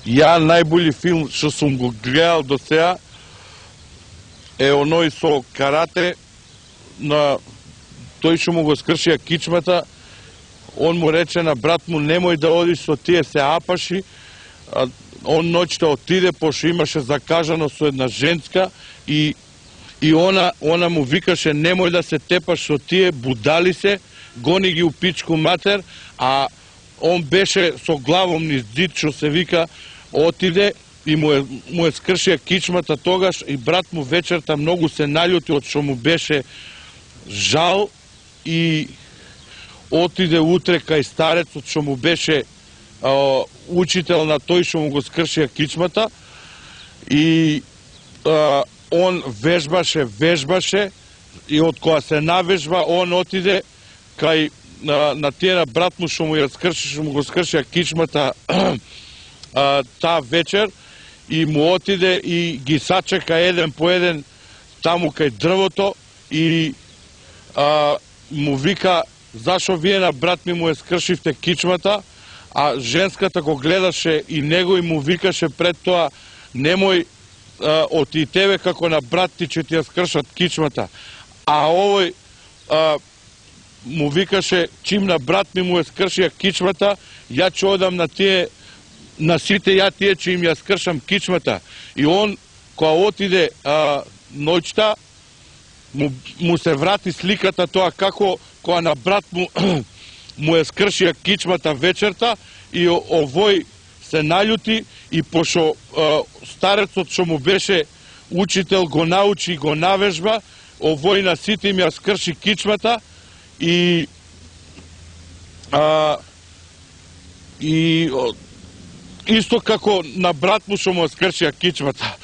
Ја најболи филм што сум го гледал до сега е оној со карате, на тој што му го скршија кичмата. Он му рече на брат му, немој да одиш со тие, се апаши. Он ноќта отиде, пошто имаше закажано со една женска и она му викаше, немој да се тепаш со тие, будали се, гони ги у пичку матер, а он беше со главом низ зид, што се вика, отиде и му е скршија кичмата тогаш и брат му вечерта многу се наљути од што му беше жал и отиде утре кај старецот што му беше учител на тој што му го скршија кичмата и он вежбаше и од која се навежба он отиде кај на тие на брат му што му го скршија кичмата таа вечер и му отиде и ги сачека еден по еден таму кај дрвото и му вика, зашо вие на брат ми му е скршивте кичмата, а женската го гледаше и него и му викаше пред тоа, немој од и тебе како на брат ти че ти ја скршат кичмата. А овој му викаше, чим на брат ми му е скршија кичмата, ја ќе одам на сите ја тие че им ја скршам кичмата. И он, која отиде ноќта, му се врати сликата тоа како која на брат му е скршија кичмата вечерта и овој се наљути и пошо старецот што му беше учител го научи и го навежба, овој на сите им ја скрши кичмата и исто како на брат му што му скршија кичмата.